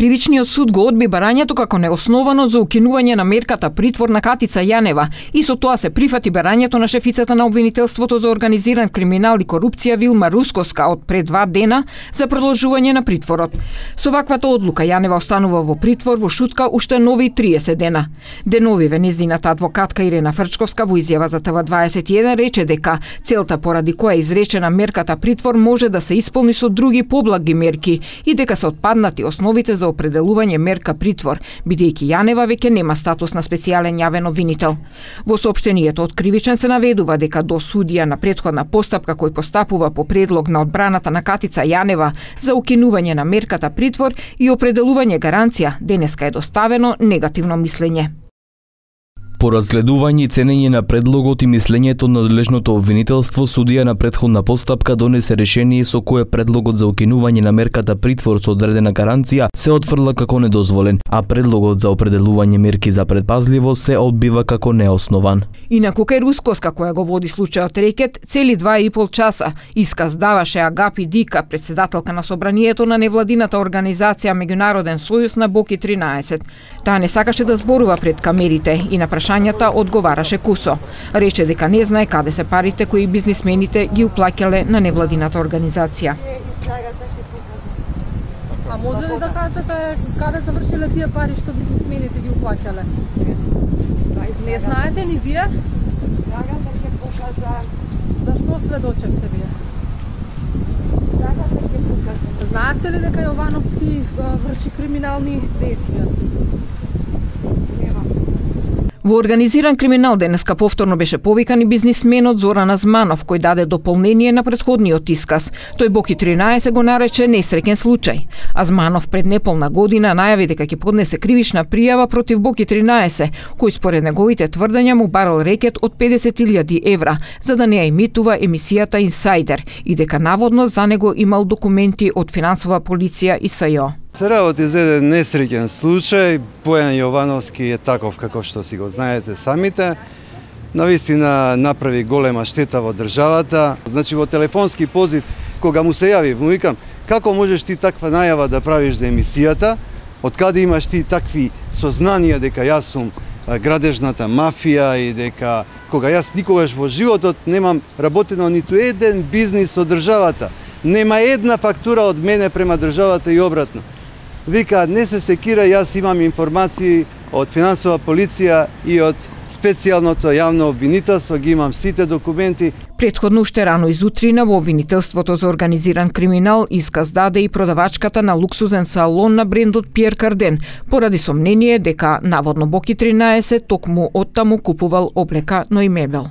Кривичниот суд го одби барањето како неосновано за укинување на мерката притвор на Катица Јанева и со тоа се прифати барањето на шефицата на обвинителството за организиран криминал и корупција Вилма Русковска од пред 2 дена за продолжување на притворот. Со ваквата одлука Јанева останува во притвор во шутка уште нови 30 дена. Деновиве нејзината адвокатка Ирена Фрчковска во изјава за ТВ21 рече дека целта поради која изречена мерката притвор може да се исполни со други поблаги мерки и дека се отпаднати основите за определување мерка притвор, бидејќи Јанева веќе нема статус на специјален јавен обвинител. Во соопштението од Кривичен се наведува дека до судија на претходна постапка кој постапува по предлог на одбраната на Катица Јанева за укинување на мерката притвор и определување гаранција, денеска е доставено негативно мислење. По разгледување и ценење на предлогот и мислењето на надлежното обвинителство, судија на претходна постапка донесе решение со кое предлогот за укинување на мерката притвор со одредена гаранција се отфрла како недозволен, а предлогот за определување мерки за предпазливост се одбива како неоснован. Инаку кај Русковска, која го води случајот рекет, цели 2,5 часа исказ даваше Агапи Дика, председателка на собранието на невладината организација Меѓународен сојуз на Боки 13. Таа не сакаше да зборува пред камерите и на прашањата одговараше кусо. Рече дека не знае каде се парите кои бизнисмените ги уплаќале на невладината организација. А може ли да кажете каде завршиле тие пари што бизнисмените ги уплаќале? Не знаете ни вие? Зашто сведочевте вие? Знаевте ли дека Јовановски врши криминални действија? Во организиран криминал денеска повторно беше повикан и бизнисменот Зоран Азманов, кој даде дополнение на претходниот исказ. Тој Боки 13 го нарече несреќен случај. Азманов пред неполна година најави дека ќе поднесе кривична пријава против Боки 13, кој според неговите тврдења му барал рекет од 50.000 евра, за да не ја емитува емисијата Инсайдер и дека наводно за него имал документи од финансова полиција и СЈО. Се работи за еден несреќен случај. Бојан Јовановски е таков како што си го знаете самите. Навистина направи голема штета во државата. Значи во телефонски позив кога му се јави, му викам: како можеш ти таква најава да правиш за емисијата? Од каде имаш ти такви сознанија дека јас сум градежната мафија и дека кога јас никогаш во животот немам работено ниту еден бизнис од државата. Нема една фактура од мене према државата и обратно. Вика, не се секира, јас имам информации од финансова полиција и од специјалното јавно обвинителство, ги имам сите документи. Претходно уште рано изутрина во обвинителството за организиран криминал исказ даде и продавачката на луксузен салон на брендот Пиер Карден, поради сомнение дека наводно Боки 13 токму оттаму купувал облека, но и мебел.